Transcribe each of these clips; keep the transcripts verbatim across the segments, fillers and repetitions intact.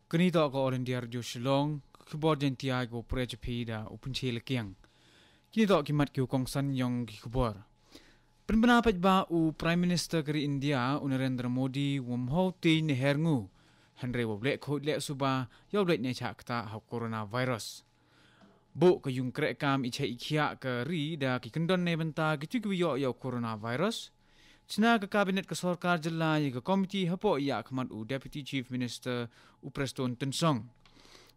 Kani toh ka All India Radio Shillong, ka khubor Jaiñtia, ka u Prej Phi da u Pynche Lakiang. Kini toh ki mat ki u kongsan yong ki khubor. Pynbna pat ba u Prime Minister ka ri India, u Narendra Modi, wam hau tin ne her ngu. Hynrei wa leh khot leh suba, yow leh ne chak kata ha coronavirus. Bo ka yung kreh kam i chai i khiah ka ri da ki kyndon ne bynta ki tu ki wa yoh yow coronavirus. Chna ka kabinet ka sorkar jylla ya ka komiti hapoh ya khmat u Deputy Chief Minister u Prestone Tynsong.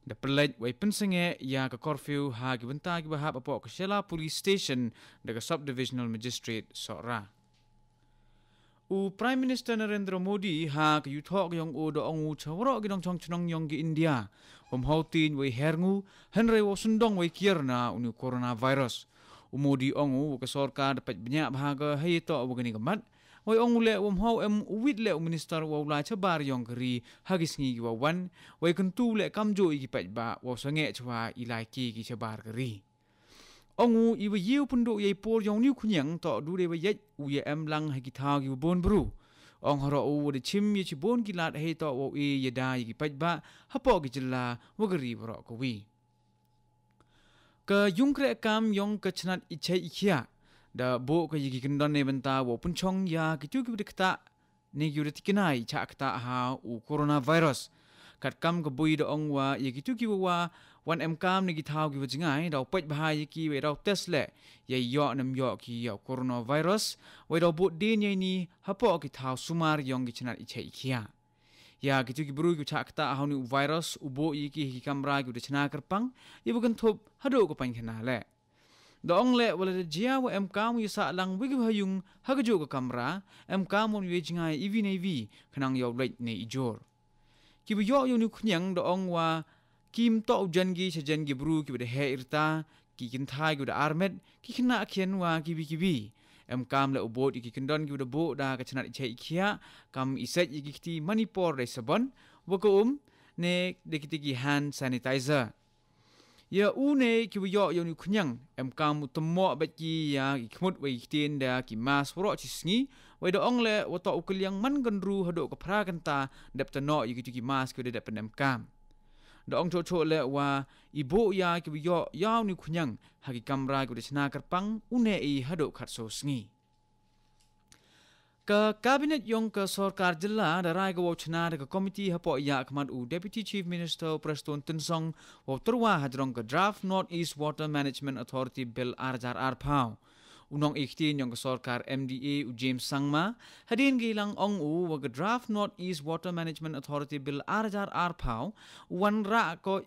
Da pynlait wei pynsenge ya ka curfew ha ki bynta ki bahap hapoh ka Shella Police Station da ka Subdivisional Magistrate Sohra. U Prime Minister Narendra Modi ha ka yuthoh ka yong u da ong u cha waroh ki nongchong chnong yong ki India. Wam hau tin wei her ngu, hynrei wa sundong wei kiar na uni u coronavirus. U Modi ong u ka sorkar da pait bnya bha ka hei toh wa kani ka mat. Wei ong u leh wam hau em u wit leh u minister wa u lai chabar yong ka ri ha ki sngi ki wa wan. Wei kyntu leh kam jo i ki pait ba wa sangeh chwa i lai ki ki chabar ka ri. Ong u i wa yiu pynduh yei por yong niu khñiang toh du dei wa yet u ya em lang ha ki thaw ki wa bon bru. Ong haro u wa da chim ya chi bon ki lad hei toh wa u i ya da ya ki pait ba hapoh ki jylla wa ka ri waroh ka wi. Ka yung kreh kam yong ka chnat i chai i khiah. Da bo ka ya ki kyndon ne bynta wa u pynchong ya ki tu ki wa da kta ne ki wa da tikna i chak kta ha u coronavirus. Kat kam ka bui da ong wa ya ki tu ki wa wa wan em kam ne ki thaw ki wa jngai da u pait bha ya ki wei da u test leh. Ya yoh nem yoh ki ya u coronavirus. Wei da u bot din ya ni hapoh ki thaw sumar yong ki chnat i chai i khiah. Ya ki tu ki bru ki wa chak kta ha u ni u virus u bo ya ki ha ki kamra ki wa da chna kyrpang. Ya wa kynthup haduh ka pang khana leh. Da ong leh wa la da jia wa em kam u ya sah lang wi ki wa ha yung ha ka ju ka kamra, em kam u ya jngai i wi ne i wi, khnang yow leit ne i jor. Ki wa yoh yow niu khñiang da ong wa kim toh u jan gi cha jan gi bru ki wa da heh irta, ki kynthai ki wa da armet, ki khynnah khian wa ki wi ki wi. Em kam leh u bot i ki kyndon ki wa da bo da ka chnat i chai i khiah, kam i sait i ki kti mani por dei sabon, wa ka um, ne da ki tiki hand sanitizer. Ya u ne ki wa yoh yow niu khñiang, em kam u tymmoh bet ki ya ki khmut wei ki ktien da ki mask waroh chi sngi, wei da ong leh wa toh u kylliang man kan ru haduh ka phra kynta dep tanoh ya ki tu ki mask ki wa da dep pynem kam. Da ong choh choh leh wa i bo ya ki wa yoh yow niu khñiang, ha ki kamra ki wa da chna kyrpang, u ne i haduh khat so sngi. Ka kabinet yong ka sorkar jylla da rai ka wow chna da ka komiti hapoh ya khmat u Deputy Chief Minister Prestone Tynsong wow tyrwa hajrong ka Draft North East Water Management Authority Bill ar hajar ar phaw. U nong ikhtin yong ka sorkar M D A u James Sangma, hadien ka ilang ong u wa ka Draft North East Water Management Authority Bill ar hajar ar phaw, u wan rah ko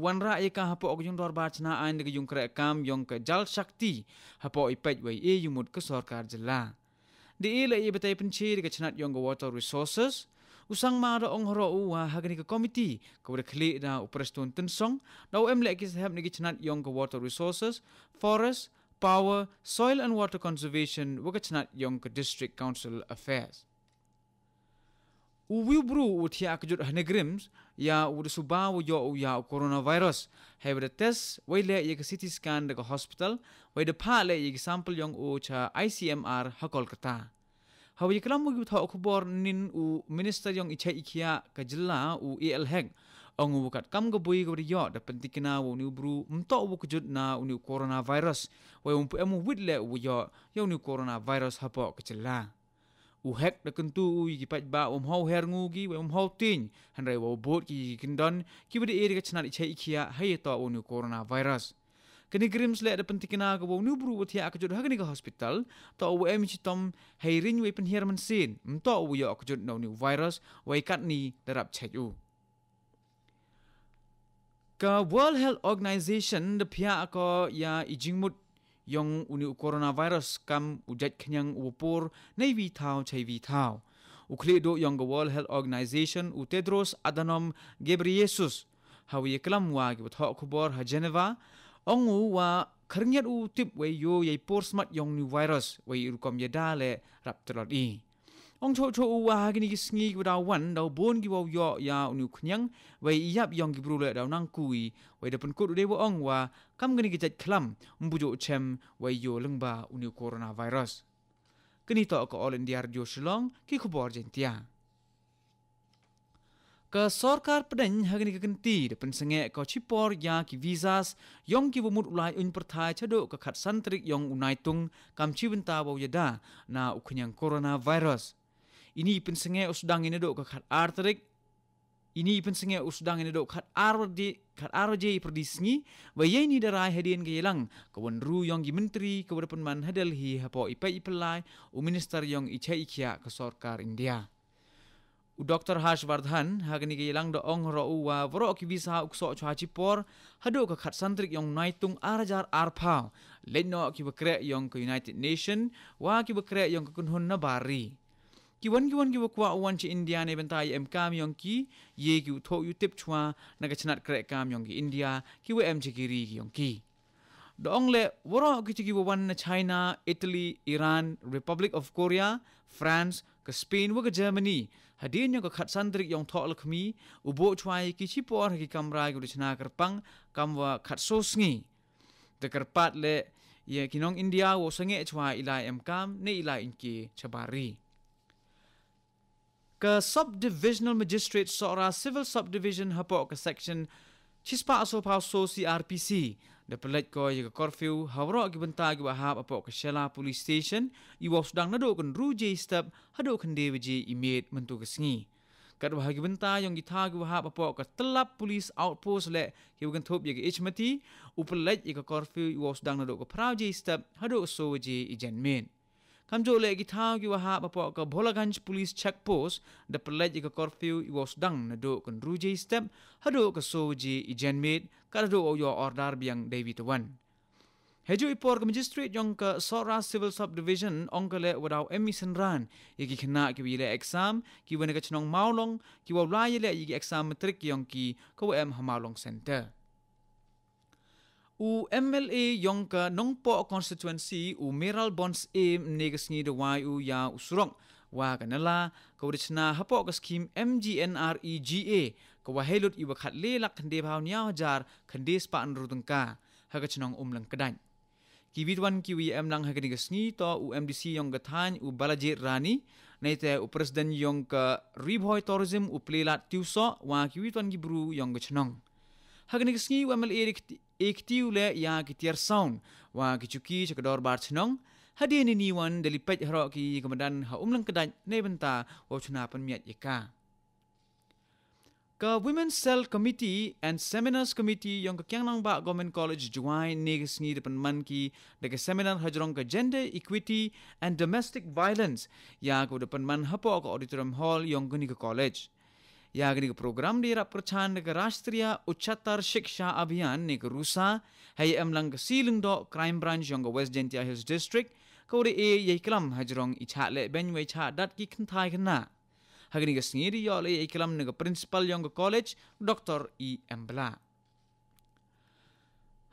wanrah ya ka hapoh ka yung dorbar chna ain da ka yung kreh kam yong ka Jal Shakti hapoh i peit wei e yumut ka sorkar jylla. Da e la e batai pynche da ka chnat yong ka Water Resources, u Sangma da ong haro u wa ha kani ka komiti ka wa da khlieh da u Prestone Tynsong, da u em leh ki sahep na ki chnat yong ka Water Resources, Forest, Power, Soil and Water Conservation wa ka chnat yong ka District Council Affairs. U wiu bru u thiah kjut ha NEIGRIHMS ya u da suba u yoh u ya u coronavirus. Hei wa da test wei leh ya ka C T scan da ka hospital, wei da phah leh ya ki sample yong u cha I C M R ha Kolkata. Hawa ya klam u ki thoh khubor nin u minister yong i chai i khiah ka jylla u A L Hek, ong u kat kam ka bui ka wa da yoh da pyntikna wa u ni u bru mtoh u kjut na u ni u coronavirus. Wei um pu em u wit leh u yoh ya u ni u coronavirus hapoh ka jylla. U Hek da kyntu u ya ki paidbah um hau her ngu ki wei um hau tieng, hynrei wow bud ki ki kyndon ki wa da e da ka chnat i chai i khiah hei ya toh u ni u coronavirus. Kani ka NEIGRIHMS leh da pyntikna ka wow ni u bru wa thiah kjut ha kani ka hospital, toh u em i chitom hei ring wei pynhiar mynsiem, mtoh u yoh kjut na u ni u virus, wei katni da rap chait u. Ka World Health Organization da phiah ko ya i jingmut yong u ni u coronavirus kam u jait khñiang u wa por nei wi thaw chai wi thaw. U khlieh duh yong ka World Health Organization u Tedros Adhanom Ghebreyesus, hawa ya klam wa ki wa thoh khubor ha Geneva, ong u wa khyrngiat u tip wei yoh ya i por smat yong u ni u virus, wei i rukom ya da leh rap tlot i. Ong choh choh u wa ha kini ki sngi ki wa daw wan daw bun ki wow yoh ya u ni u khñiang, wei i yap yong ki bru leh daw nang kui, wei da pynkut u dei wa ong wa kam kini ki jait khlam mbu joh chem wei yoh lyngba u ni u coronavirus. Kini toh ka All India Radio Shillong, ki khubor Jaiñtia. Ka sorkar pdeng ha kane ka kynti da pynsangeh ka chipor ïa ki visas ïong ki wa mut u lai uiñ pyrthai shaduh ka khatsan tarik ïong u Naitung kam chi bynta wa u ïada na u khñiang coronavirus. Ini pynsangeh u sdang ïa naduh ka khat ar tarik. Ini pynsangeh u sdang ïa naduh khat ar di khat ar je i pyrdi sngi. Wa ïa ini da rai hadien ka ïalang ka wan ru ïong ki menteri ka wa da pynman ha Delhi hapoh i peit i pylai u minister ïong i chai i khiah ka sorkar India. U Dr Harsh Vardhan ha kane ka ïalang da ong roh u wa waroh ki visa u ksoh chwa chipor haduh ka khatsan tarik ïong Naitung ar hajar ar phaw. Leit noh ki wa kreh ïong ka United Nation wa ki wa kreh ïong ka kynhun na bar ri. Ki wan ki wan ki wa kwah u wan cha India ne bynta ïa em kam ïong ki, ïa ki u thoh u tip chwa na ka chnat kreh kam ïong ki India ki wa em cha ki ri ki ïong ki. Da ong leh waroh ki cha ki wa wan na China, Italy, Iran, Republic of Korea, France, ka Spain wa ka Germany. Hadien ïong ka khatsan tarik ïong Thoh Lakhmi, u buh chwa ïa ki chipor ha ki kamra ki wa da chna kyrpang kam wa khatso sngi. Da kyrpad leh ïa ki nong India wa sangeh chwa i lai em kam ne i lai inki cha bar ri. Ka Subdivisional Magistrate Sohra Civil Subdivision hapoh ka Section chispah so phaw so C R P C da pynleit ko ïa ka curfew ha waroh ki bynta ki wa hap hapoh ka Shella Police Station, i wa sdang naduh ka hynru je step haduh ka khyndai baje i miet mynta ka sngi. Kat wa ha ki bynta ïong ki thaw ki wa hap hapoh ka Tyllap Police Outpost leh ki wa kynthup ïa ka H M T, u pynleit ïa ka curfew i wa sdang naduh ka phra je step haduh so je i janmiet. Kamjooh leh ki thaw ki wa hap hapoh ka Bholaganj Police Check Post da pynleit ïa ka curfew i wa sdang naduh ka hynru je step haduh ka so je i janmiet, ka da duh u ïoh order biang dei wi tawan. Heju i por ka Magistrate ïong ka Sohra Civil Subdivision ong ka leh wa daw em i synran ïa ki khynnah ki wa ïa leh exam ki wa na ka chnong Mawlong ki wa la ïa leh ïa ki exam matric ïong ki ka wa em ha Mawlong Center. U M L A ïong ka Nongpoh Constituency u Meral Bons A ne ka sngi da wai u ïa u surok wa ka nala ka wa da chna hapoh ka skim M G N R E G A ka wa hei lut i wa khat le lak khyndai phaw hynñiaw hajar khyndai spah hynru tyngka ha ka chnong Umlang Kdait. Ki wit wan ki wi em lang ha kane ka sngi to u M D C ïong ka thaiñ u Balajit Rani, naite u president ïong ka Ri Bhoi Tourism u Plelat Tiwsoh wa ki wit wan ki bru ïong ka chnong. Ha kane ka sngi u M L A da kti- e kti u leh ïa ki tiar sound wa ki chuki cha ka dorbar chnong. Hadien ini wan da li peit haroh ki ka madan ha Umlang Kdait ne bynta wa u chna pynmiat ïa ka. Ka Women's Cell Committee and Seminars Committee ïong ka Kiang Nangbah Government College Jowai ne ka sngi da pynman ki da ka seminar hajrong ka Gender Equity and Domestic Violence ïa ka da pynman hapoh ka Auditorium Hall ïong kane ka college. Ïa kane ka program da ïarap kyrchan da ka Rashtriya Ucchatar Shiksha Abhiyan ne ka rusa, ha ïa em lang ka C Lyngdoh Crime Branch ïong ka West Jaintia Hills District, ka wa da e ïa i klam hajrong i chah leh beiñ wa i chah dat ki kynthai khynnah. Ha kane ka sngi da ïoh leh ïa i klam na ka principal ïong ka college, Dr E M Blah.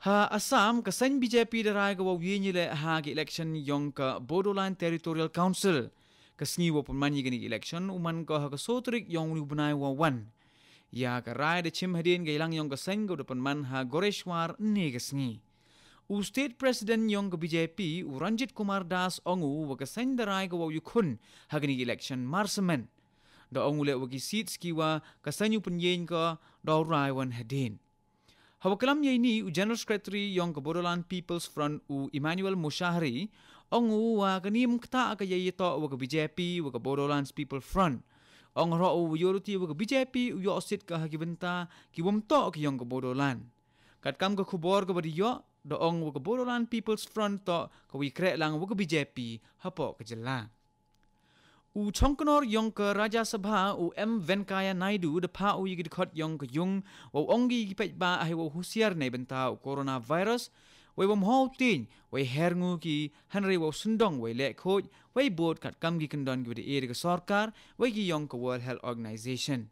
Ha Assam ka seng B J P da rai ka wa u ïeng ïa leh ha ka election ïong ka Bodoland Territorial Council. Ka sngi wa pynman ïa kane ka election u man ka ha ka so tarik ïong u bnai wa wan. Ïa ka rai da chim hadien ka ïalang ïong ka seng ka da pynman ha Goreshwar ne ka sngi. U State President ïong ka B J P u Ranjit Kumar Das ong u wa ka seng da rai ka wa u ïakhun ha kane ka election mar shmen. Da ong u leh wa ki seats ki wa ka seng u pynïeng ka da u rai wan hadien. Ha wa klam ïa ini u General Secretary ïong ka Bodoland People's Front u Emmanuel Mushahri, ong u wa ka nim kata ka ïa ïa to wa ka B J P wa ka Bodoland People's Front. Ong roh u wa ïoh ruti wa ka B J P u ïoh seat ka ha ki bynta ki wam to ki ïong ka Bodoland. Katkam ka khubor ka ba di ïoh, da ong wa ka Bodoland People's Front to ka wi kreh lang wa ka B J P hapoh ka jylla. U chongknor ïong ka Rajya Sabha u M Venkaiah Naidu da pha u ïa ki dkhot ïong ka ïung wa u ong ki ki peit ba ai wa u husiar ne bynta u coronavirus, wei wa mhaw tiñ, wei her ngu ki, hynrei wa u sendong wei leh khoj, wei bot kat kam ki kyndon ki wa da e da ka sorkar, wei ki ïong ka World Health Organization.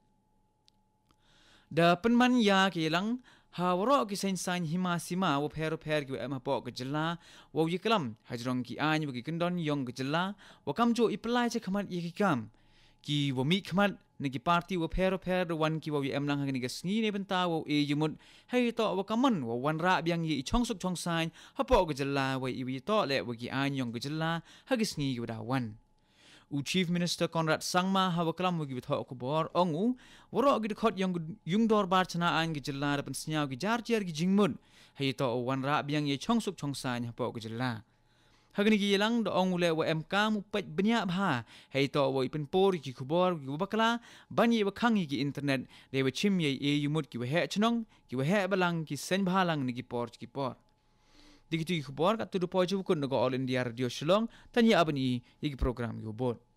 Da pynman ïa ki lang ha waroh ki seng saiñ hima sima wa pher pher ki wa em hapoh ka jylla, wa u ïa klam hajrong ki aiñ wa ki kyndon ïong ka jylla, wa kam jo i pylai cha khmat ïa ki kam. Ki wa mih khmat na ki party wa pher pher da wan ki wa u ïa em lang ha kane ka sngi ne bynta wa u e ïa mut, hei to wa ka man wa wan rah biang ïa i chong suk chong saiñ hapoh ka jylla wa i wi to leh wa ki aiñ ïong ka jylla ha ki sngi ki wa da wan. U Chief Minister Conrad Sangma haba klam bad ki pathai khubor ong u, waroh ki dkhot yong yung dorbar chna ain ki jylla da pynsngew ki jar jar ki jingmut, hei to u wanrah biang ïa chongsuk chongsaiñ hapoh ki jylla. Hagani ki ïalang da ong u leh wa em kam u peit bniah bha, hei to wa i pynpur ki khubor ki bakla, ban ïa wa khang ïa ki internet, dei wa chim ïa i yumut ki wa heh chnong, ki wa heh balang, ki seng bhalang ni ki por ki por. Dei ki tu ki khubor kat tu du poi jubukun na ka All India Radio Shillong, tan ïa aban i ïa ki program ïa u bot.